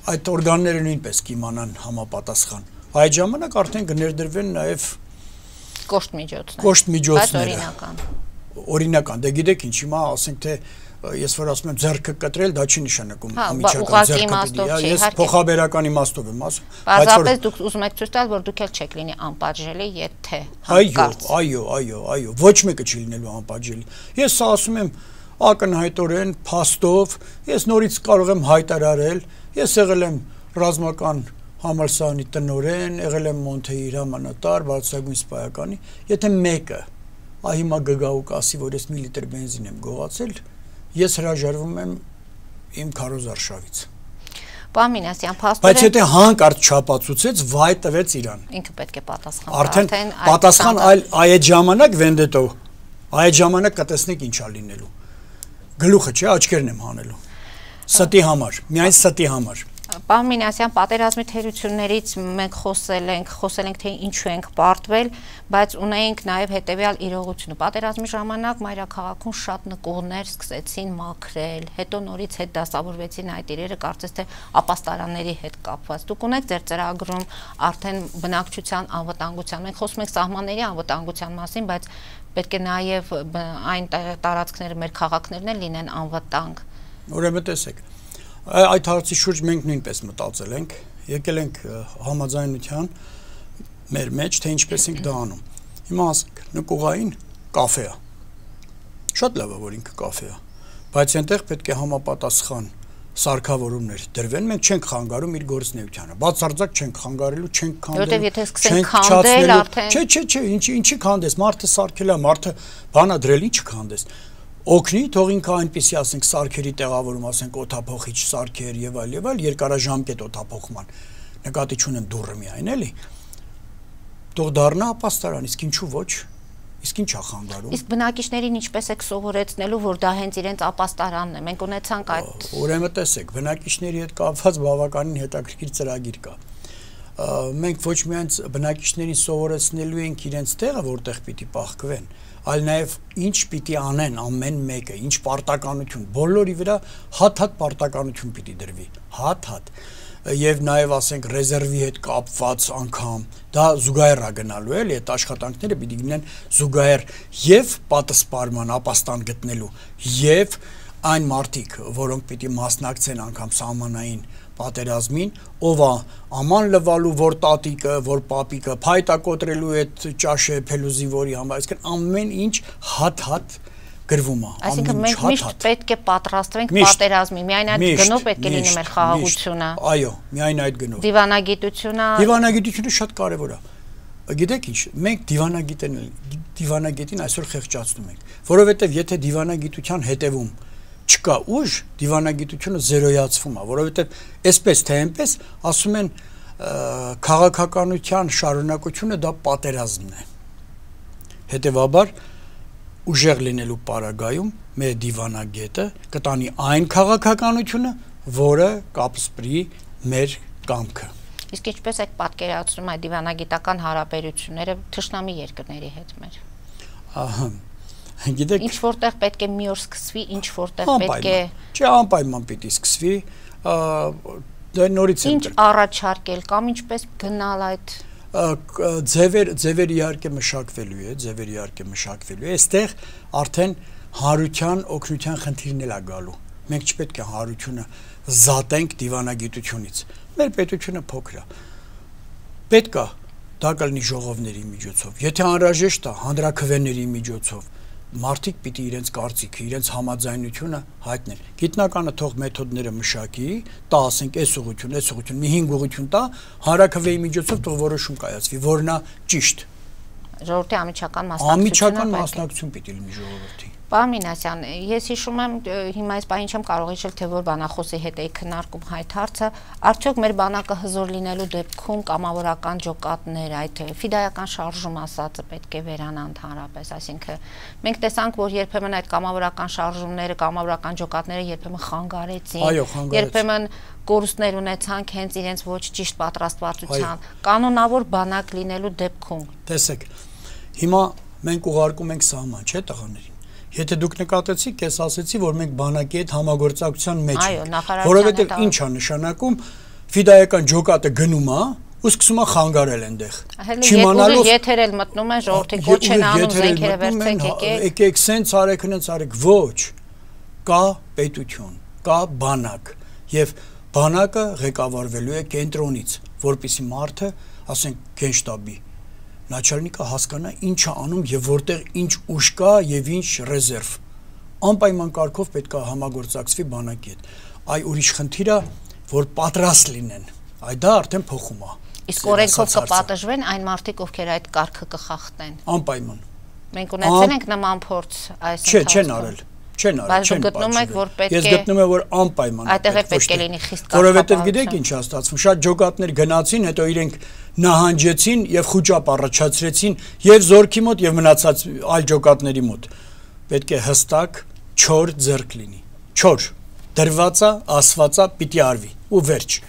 այդ օրգանները նույնպես կիմանան համապատասխան։ Այդ ժամանակ արդեն կներդրվեն նաև կոշտ միջոցները։ Օրինական, դե գիտեք ինչ, հիմա ասենք թե ես որ ասում եմ ձեռքը կտրել, դա չի նշանակում ամիջական ձեռքը, ես փոխաբերական իմաստով եմ ասում։ Պարզապես դուք ուզում եք ցույց տալ, որ դուք էլ չեք լինի անպատժելի, եթե հանկարծ։ Այո, ոչ մեկը չի լինելու անպատժելի։ Ես սա ասում եմ ակնհայտորեն, փաստով, ես նորից կարող եմ հայտարարել, ես եղել եմ ռազմական համալսարանի տնօրեն, եղել եմ Մոնթեի հրամանատար, բարձրագույն սպայականի, եթե մեկը հիմա գգա ու կասի, որ ես մի լիտր բենզին եմ գողացել, ես հրաժարվում եմ իմ քարոզարշավից։ Պարոն Մինասյան, փաստորեն, բայց եթե հանկարծ չափածուցեց, վայ տվեց իրան։ Ինքը պետք է պատասխան։ Արդեն պատասխան այդ ժամանակ վենդետո, այդ ժամանակ կտեսնեք ինչ է լինելու։ Գլուխը չէ, աչքերն եմ հանելու։ Ստի համար, միայն ստի համար։ Պարոն Մինասյան, պատերազմի թերություններից մենք խոսել ենք թե ինչու ենք պարտվել, բայց ունեինք նաև հետևյալ իրողությունը։ Պատերազմի ժամանակ մայրաքաղաքում շատ նկուղներ սկսեցին մաքրել, հետո նորից հետ դասավորվեցին այդ իրերը, կարծես թե ապաստարանների հետ կապված։ Դուք ունեք ձեր ծրագրում արդեն բնակչության անվտանգության, մենք խոսում ենք սահմանների անվտանգության մասին, բայց պետք է նաև այն տարածքները, մեր քաղաքներն էլ լինեն անվտանգ։ Ուրեմն տեսեք, այդ հարցի շուրջ մենք նույնպես մտածել ենք, եկել ենք համաձայնության մեր մեջ, թե ինչպես ենք դա անում։ Հիմա ասենք, նկուղային կաֆե է։ Շատ լավ է, որ ինքը կաֆե է, բայց այնտեղ պետք է համապատասխան սարքավորումներ դրվեն, մենք չենք խանգարում իր գործունեությանը։ Բացարձակ չենք խանգարելու, չենք քանդելու։ Որտեւ եթե սկսենք քանդել արդեն։ Չէ, ինչի քանդես, մարդը սարքել է, մարդը բանա դրել, ինչ քանդես։ Օգնի, թող ինքը այնպեսի ասենք սարքերի տեղավորում, ասենք օդափոխիչ սարքեր եւ այլ, երկարաժամկետ օդափոխման։ Նկատի չունեմ դուրը միայն, էլի։ Թող դառնա ապաստարան, իսկ ինչու ոչ։ Իսկ ինչ է խանգարում։ Իսկ բնակիչներին ինչպես եք սովորեցնելու, որ դա հենց իրենց ապաստարանն է։ Մենք ունեցանք այդ։ Ուրեմն տեսեք, բնակիչների հետ կապված բավականին հետաքրքիր ծրագիր կա։ մենք ոչ միայն բնակիչներին սովորեցնելու ենք իրենց տեղը, որտեղ պիտի պահկվեն, այլ նաև ինչ պիտի անեն ամեն մեկը, ինչ պարտականություն, բոլորի վրա հատ-հատ պարտականություն պիտի դրվի, հատ-հատ, եւ նաև ասենք ռեզերվի հետ կապված անգամ, դա զուգահեռ է գնալու էլի, այդ աշխատանքները պիտի գնան զուգահեռ եւ պատասպարման ապաստան գտնելու եւ այն մարդիկ, որոնք պիտի մասնակցեն անգամ սահմանային պատերազմին, ով է աման լվալու, որ տատիկը, որ պապիկը, փայտա կոտրելու այդ ճաշը փելուզի որի համար, այսինքն ամեն ինչ հատ-հատ գրվում է։ Այսինքն մենք միշտ պետք է պատրաստվենք պատերազմի, միայն այդ գնով պետք է լինի մեր խաղաղությունը։ Այո, միայն այդ գնով։ Դիվանագիտությունը շատ կարևոր է։ Գիտեք ինչ, մենք դիվանագետին այսօր խեղճացնում ենք, որովհետև եթե դիվանագիտության հետևում չկա ուժ, դիվանագիտությունը զերոյացվում է, որովհետև այսպես թե այնպես ասում են քաղաքականության շարունակությունը դա պատերազմն է։ Հետևաբար ուժեղ լինելու պարագայում մեր դիվանագետը կտանի այն քաղաքականությունը, որը կապսպրի մեր կամքը։ Իսկ ինչպես եք պատկերացնում այդ դիվանագիտական հարաբերությունները թշնամի երկրների հետ մեր։ Ահա Գիտեք, ինչ որտեղ պետք է մի օր սկսվի, ինչ որտեղ պետք է Չէ, անպայման պիտի սկսվի, դա նորից Ինչ առաջարկել կամ ինչպես գնալ այդ ձևեր իհարկե մշակվելու է, այստեղ արդեն հարության, օգնության խնդիրն էլ է գալու։ Մենք չպետք է հարությունը զատենք դիվանագիտությունից։ Մեր պետությունը փոքր է։ Պետք է դա կլինի ժողովների միջոցով, եթե անհրաժեշտ է հանրաքվեների միջոցով։ Մարդիկ պիտի իրենց կարծիքը, իրենց համաձայնությունը հայտնեն։ Գիտնականը թող մեթոդները մշակի, տա ասենք այս ուղղություն, մի 5 ուղղություն տա, հանրաքվեի միջոցով թող որոշում կայացվի, որն է ճիշտ։ Ժողովրդի անմիջական մասնակցություն պիտի լինի ժողովրդի։ Պարոն Մինասյան, ես հիշում եմ, հիմա այս բանին չեմ կարող հիշել, թե որ բանախոսի հետ էի քննարկում այդ հարցը, արդյոք մեր բանակը հզոր լինելու դեպքում կամավորական ջոկատներ, այդ ֆիդայական շարժում ասածը պետք է վերանա ընդհանրապես, այսինքն մենք տեսանք, որ երբեմն այդ կամավորական շարժումները, կամավորական ջոկատները երբեմն խանգարեցին, երբեմն կորուստներ ունեցանք հենց իրենց ոչ ճիշտ պատրաստվածության, կանոնավոր բանակ լինելու դեպքում։ Տեսեք, հիմա մենք ուղարկում ենք սահման, չէ՞ տղաներին։ Եթե դուք նկատեցիք, ես ասեցի, որ մենք բանակի հետ համագործակցության մեջ ենք, որովհետև ինչ է նշանակում, ֆիդայական ջոկատը գնում է, ու սկսում է խանգարել այնտեղ։ Չիմանալով եթերել մտնում են ժողովրդի կոչ են անում զենքերը վերցեք եկեք սենց արեք, հենց արեք, ոչ։ Կա պետություն, կա բանակ, եւ բանակը ղեկավարվելու է կենտրոնից, որպեսզի մարդը, ասենք, գենշտաբի Նաչալնիկը հասկանա ինչ է անում եւ որտեղ ինչ ուժ կա եւ ինչ ռեզերվ։ Անպայման կարգով պետք է համագործակցվի բանակի հետ։ Այ ուրիշ խնդիր է, որ պատրաստ լինեն։ Այ դա արդեն փոխում է։ Իսկ օրենքով կպատժվեն այն մարդիկ, ովքեր այդ կարգը կխախտեն։ Անպայման։ Մենք ունեցել ենք նման փորձ այս ընթացքում։ Չեն արել։ Չեն արել, չեն պատժվել։ Ես գտնում եմ, որ անպայման այդտեղ պետք է լինի խիստ կարգապահություն։ Որովհետև գիտեք ինչ է ստացվում, շատ ջոկատներ գնացին, հետո իրենք նահանջեցին եւ խուճապ առաջացրեցին եւ զորքի մոտ եւ մնացած այլ ջոկատների մոտ։ Պետք է հստակ, չոր ձեռք լինի։ Չոր, դրվածա, ասվածա պիտի արվի ու վերջ։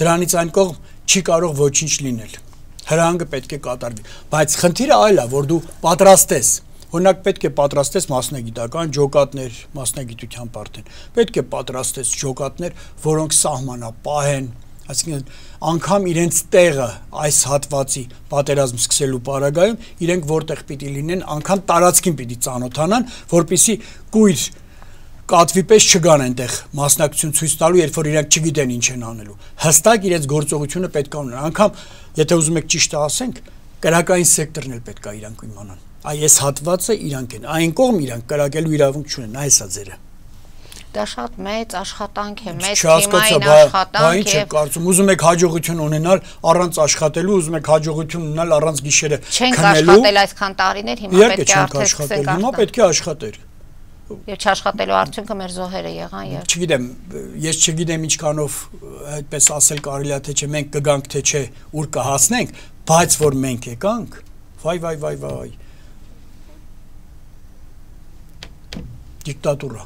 Դրանից այն կողմ չի կարող ոչինչ լինել։ Հրահանգը պետք է կատարվի, բայց խնդիրը այլ է, որ դու պատրաստես։ Օրինակ պետք է պատրաստես մասնագիտական ջոկատներ, մասնագիտության պարտեն։ Պետք է պատրաստես ջոկատներ, որոնք սահմանապահ են, այսինքն անգամ իրենց տեղը այս հատվածի պատերազմ սկսելու պարագայում իրենք որտեղ պիտի լինեն, անգամ տարածքին պիտի ծանոթանան, որպեսզի կույր կատվի պես չգան այնտեղ մասնակցություն ցույց տալու, երբ որ իրենք չգիտեն ինչ են անելու։ Հստակ իրենց գործողությունը պետք է ունենան։ Անգամ եթե ուզում եք ճիշտ ասենք, կրակային սեկտորն էլ պետք է իրանք իմանան։ Այս հատվածը իրանք են, այն կողմ իրանք կրակելու իրավունք չունեն, այս է ձերը։ Դա շատ մեծ աշխատանք է, մեծ թեմային աշխատանք է։ Ինչ եք կարծում, ուզում եք հաջողություն ունենալ առանց աշխատելու, ուզում եք հաջողություն ունենալ առանց գիշերը քնելու։ Չենք աշխատել այսքան տարիներ, հիմա պետք է արդեն սկսենք աշխատել։ Հիմա պետք է աշխատել։ Եվ չաշխատելու արդյունքը մեր զոհերը եղան եւ Չգիտեմ, ես չգիտեմ ինչքանով այդպես ասել կարելի է թե չէ, մենք կգանք թե չէ, ուր կհասնենք, բայց որ մենք եկանք, վայ։ Դիկտատուրա։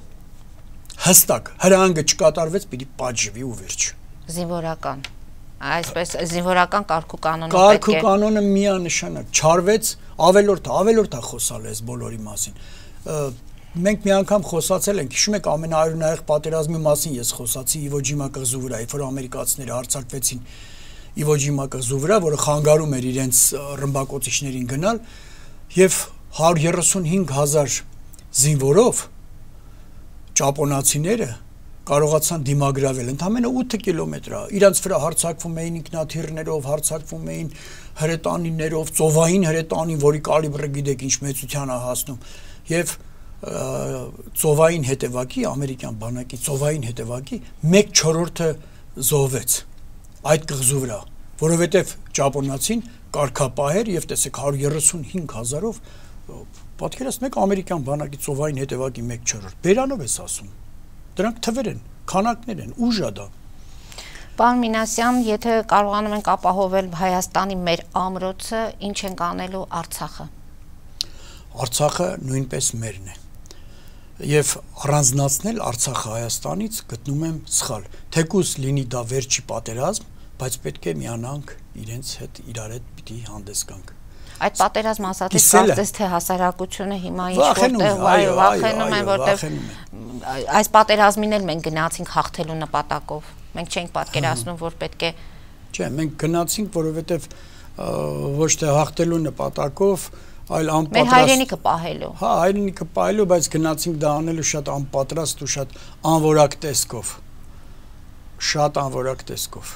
Հստակ, հրահանգը չկատարվեց, պիտի պատժվի ու վերջ։ Զինվորական։ Այսպես զինվորական կարգու կանոնը Կարգու կանոնը միանշանակ չարվեց, ավելորդ է խոսալ այս բոլորի մասին։ Մենք մի անգամ խոսացել ենք, հիշում եք ամենաարյունահեղ պատերազմի մասին ես խոսացի Իվո Ջիմա կղզու վրա, երբ որ ամերիկացիները հարձակվեցին Իվո Ջիմա կղզու վրա, որը խանգարում էր իրենց ռմբակոծիչներին գնալ, եւ 135,000 զինվորով ճապոնացիները կարողացան դիմագրավել ընդամենը 8 կիլոմետր, իրանց վրա հարձակվում էին ինքնաթիռներով, հարձակվում էին հրետանիներով, ծովային հրետանին, որի կալիբրը գիտեք ինչ մեծության է հասնում, եւ ծովային հետևակի, ամերիկյան բանակի ծովային հետևակի 1/4-ը զոհվեց այդ կղզու վրա, որովհետեւ ճապոնացին կարգապահեր եւ տեսեք 135,000-ով պատկերացնեք ամերիկյան բանակի ծովային հետևակի 1/4, բերանով ես ասում։ Դրանք թվեր են, քանակներ են, ուժ է դա։ Պարոն Մինասյան, եթե կարողանում ենք ապահովել Հայաստանի մեր ամրոցը, ինչ ենք անելու Արցախը։ Արցախը նույնպես մերն է։ Եվ առանձնացնել Արցախը Հայաստանից գտնում եմ սխալ։ Թեկուզ լինի դա վերջի պատերազմ, բայց պետք է միանանք իրենց հետ, իրար հետ պիտի հանդես գանք։ Այդ պատերազմը ասածից կարծես թե հասարակությունը հիմա ինչ-որտեղ վախենում են, որտեղ այս պատերազմին էլ մենք գնացինք հաղթելու նպատակով։ Մենք չենք պատկերացնում, որ պետք է Չէ, մենք գնացինք, որովհետև ոչ թե հաղթելու նպատակով, այլ անպատրաստ։ Մեր հայրենիքը պահելու։ Հա, հայրենիքը պահելու, բայց գնացինք դա անելու շատ անպատրաստ ու շատ անորակ տեսքով։ Շատ անորակ տեսքով։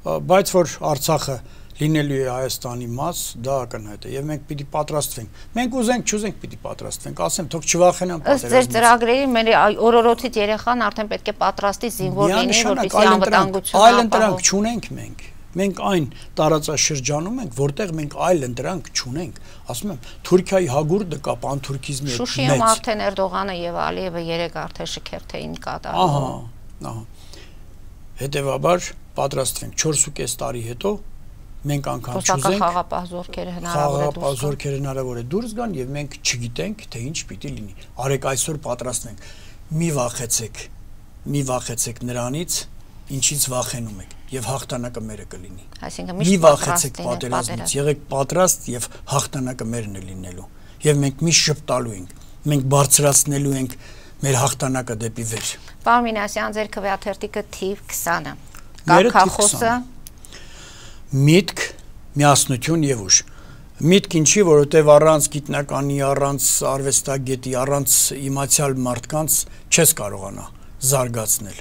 Բայց որ Արցախը լինելու է Հայաստանի մաս, դա ակնհայտ է, եւ մենք պիտի պատրաստվենք։ Մենք ուզենք, չուզենք պիտի պատրաստվենք, ասեմ, թող չվախենան պատերազմից։ Ըստ ձեր ծրագրերի մեր օրորոցից երեխան արդեն պետք է պատրաստի զինվոր լինի, որպեսզի անվտանգությունը այլ ընտրանք չունենք մենք։ Մենք այն տարածաշրջանում ենք, որտեղ մենք այլ ընտրանք չունենք։ Ասում եմ, Թուրքիայի հագուրդը կա պանթուրքիզմի հետ։ Շուշիում արդեն Էրդողանը եւ Ալիևը 3 արդեն շքերթ էին կատարում։ Ահա։ Հետևաբար պատրաստվենք 4.5 տարի հետո մենք անգամ չուզենք խաղապահ զորքերը հնարավոր է դուրս գան եւ մենք չգիտենք թե ինչ պիտի լինի։ Արեք այսօր պատրաստվենք։ Մի վախեցեք նրանից, ինչից վախենում եք եւ հաղթանակը մերը կլինի։ Այսինքն մի վախեցեք պատերազմից, եղեք պատրաստ եւ հաղթանակը մերն է լինելու։ Եվ մենք միշտ շփտալու ենք, մենք բարձրացնելու ենք մեր հաղթանակը դեպի վեր։ Պարոն Մինասյան, ձեր քվեաթերթիկը թիվ 20-ը։ Կարգախոսը Միտք, միասնություն եւ ուժ։ Միտք ինչի, որովհետեւ առանց գիտնականի, առանց արվեստագետի, առանց իմացյալ մարդկանց չես կարողանա զարգացնել։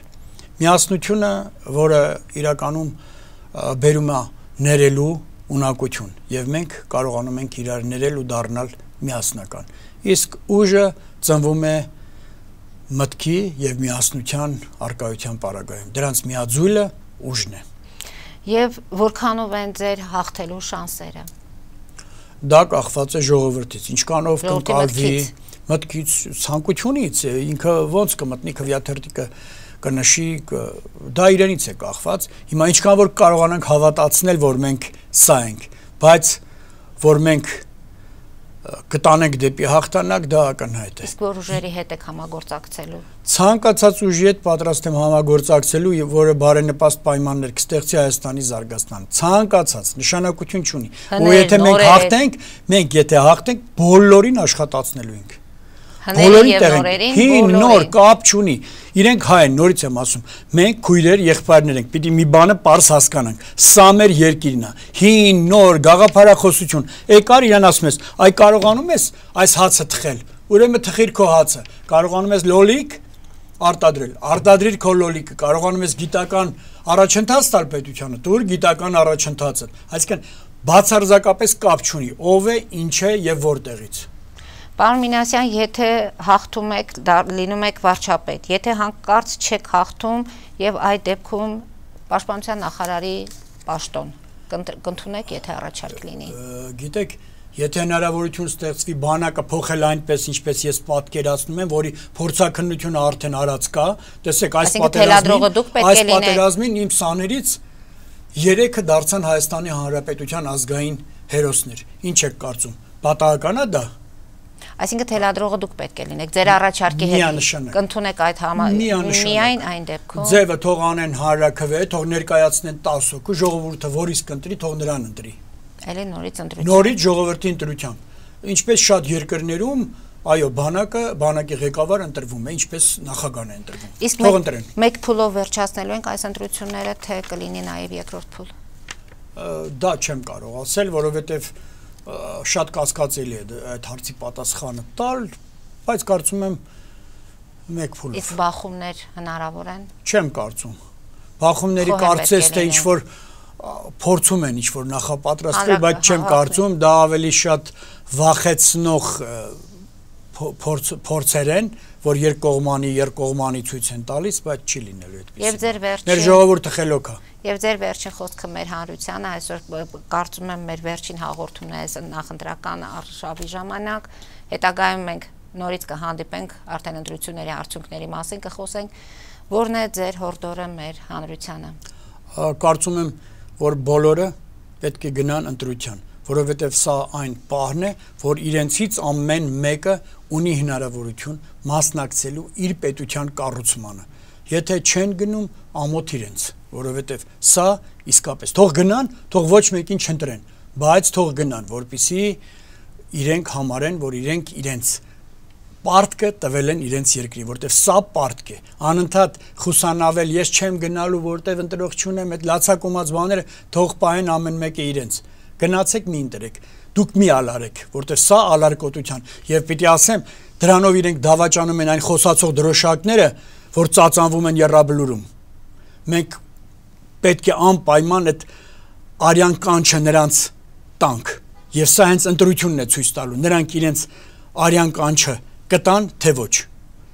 Միասնությունը, որը իրականում բերում է ներելու ունակություն, եւ մենք կարողանում ենք իրար ներել ու դառնալ միասնական։ Իսկ ուժը ծնվում է մտքի եւ միասնության արկայության պարագայում։ Դրանց միաձուլը ուժն է։ Եվ որքանով են ձեր հաղթելու շանսերը։ Դա կախված է ժողովրդից, ինչքանով կընկալվի մտքից, ցանկությունից, ինքը ոնց կմտնի քվեաթերթիկը կնշի, դա իրենից է կախված։ Հիմա ինչքան որ կարողանանք հավատացնել, որ մենք սա ենք, բայց որ մենք կտանենք դեպի հաղթանակ, դա ակնհայտ է։ Իսկ որ ուժերի հետ եք համագործակցելու։ Ցանկացած ուժի հետ պատրաստ եմ համագործակցելու, որը բարենպաստ պայմաններ կստեղծի Հայաստանի զարգացման։ Ցանկացած նշանակություն չունի։ Ու եթե մենք հաղթենք, բոլորին աշխատացնելու ենք։ Բոլորին նոր կապ չունի։ Իրենք հայ են, նորից եմ ասում, մենք քույրեր, եղբայրներ ենք, պիտի մի բանը պարզ հասկանանք։ Սա մեր երկիրն է։ Հին, նոր, գաղափարախոսություն։ Եկար իրան ասում ես, այ կարողանում ես այս հացը թխել։ Ուրեմն թխիր քո հացը։ Կարողանում ես լոլիկ արտադրել։ Արտադրիր քո լոլիկը։ Կարողանում ես գիտական առաջընթաց տալ պետությանը։ Դուր գիտական առաջընթացը։ Այսինքն բացարձակապես կապ չունի ով է, ինչ է եւ որտեղից։ Պարոն Մինասյան, եթե հաղթում եք, լինում եք վարչապետ, եթե հանկարծ չեք հաղթում եւ այդ դեպքում պաշտպանության նախարարի պաշտոն կընդունեք, եթե առաջարկ լինի։ Գիտեք, եթե հնարավորություն ստեղծվի բանակը փոխել այնպես, ինչպես ես պատկերացնում եմ, որի փորձաքննությունը արդեն արած կա, տեսեք, այս պատերազմին իմ սաներից 3-ը դարձան Հայաստանի Հանրապետության ազգային հերոսներ։ Ինչ եք կարծում, պատահական է դա։ Այսինքն թելադրողը դուք պետք է լինեք, ձեր առաջարկի հետ կընդունեք այդ միայն այն դեպքում։ Ձևը թող անեն հանրաքվե, թող ներկայացնեն 10 հոգու, ժողովուրդը որից կընտրի, թող նրան ընտրի։ Էլի նորից ընտրություն։ Նորից ժողովրդի ընտրությամբ։ Ինչպես շատ երկրներում, այո, բանակի ղեկավար ընտրվում է, ինչպես նախագահն է ընտրվում։ Թող ընտրեն։ Մեկ փուլով վերջացնելու ենք այս ընտրությունները, թե կլինի նաև երկրորդ փուլ։ Դա չեմ կարող ասել, որովհետև շատ կասկածելի է այդ հարցի պատասխանը տալ, բայց կարծում եմ մեկ փուլով։ Իսկ բախումներ հնարավոր են։ Չեմ կարծում։ Բախումների կարծես թե ինչ որ փորձում են ինչ որ նախապատրաստել, բայց չեմ կարծում, դա ավելի շատ վախեցնող փորձեր են, որ երկկողմանի ցույց են տալիս, բայց չի լինելու այդպես։ Եվ ձեր վերջին Մեր ժողովուրդը խելոք է։ Եվ ձեր վերջին խոսքը մեր հանրությանը, այսօր կարծում եմ մեր վերջին հաղորդումն է այս նախընտրական արշավի ժամանակ, հետագայում մենք նորից կհանդիպենք, արդեն ընտրությունների արդյունքների մասին կխոսենք, որն է ձեր հորդորը մեր հանրությանը։ Կարծում եմ, որ բոլորը պետք է գնան ընտրության, որովհետև սա այն պահն է, որ իրենցից ամեն մեկը ունի հնարավորություն մասնակցելու իր պետության կառուցմանը։ Եթե չեն գնում, ամոթ իրենց, որովհետև սա իսկապես թող գնան, թող ոչ մեկին չընտրեն, բայց թող գնան, որպեսզի իրենք համարեն, որ իրենք իրենց պարտքը տվել են իրենց երկրի, որտեղ սա պարտք է։ Անընդհատ խուսանավել, ես չեմ գնալու, որտեղ ընտրող չունեմ, այդ լացակոմած բաները թող պահեն ամեն մեկը իրենց։ Գնացեք մի ընտրեք, դուք մի ալարեք, որտեղ սա ալարկոտության, եւ պիտի ասեմ, դրանով իրենք դավաճանում են այն խոսացող դրոշակները, որ ծածանվում են Եռաբլուրում։ Մենք պետք է անպայման այդ արյան կանչը նրանց տանք, եւ սա հենց ընտրությունն է ցույց տալու, նրանք իրենց արյան կանչը կտան, թե ոչ,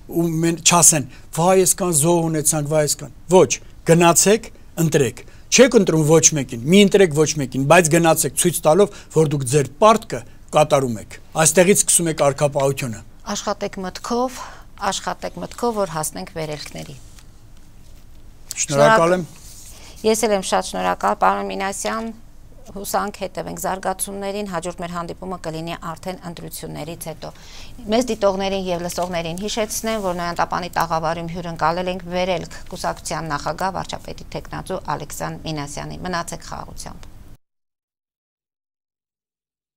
ու չասեն, վայ այսքան զոհ ունեցանք, վայ այսքան, ոչ, գնացեք, ընտրեք, չեք ընտրում ոչ մեկին, մի ընտրեք ոչ մեկին, բայց գնացեք ցույց տալով, որ դուք ձեր պարտքը կատարում եք, այստեղից սկսում եք առքապահությունը։ Աշխատեք մտքով, որ հասնենք վերելքների։ Շնորհակալ եմ։ Ես էլ եմ շատ շնորհակալ, պարոն Մինասյան, հուսանք հետևենք զարգացումներին, հաջորդ մեր հանդիպումը կլինի արդեն ընտրություններից հետո։ Մեզ դիտողներին եւ լսողներին հիշեցնեմ, որ Նոյանտապանի տաղավարում հյուրընկալել ենք Վերելք կուսակցության նախագահ վարչապետի թեկնածու Ալեքսան Մինասյանին։ Մնացեք խաղաղությամբ։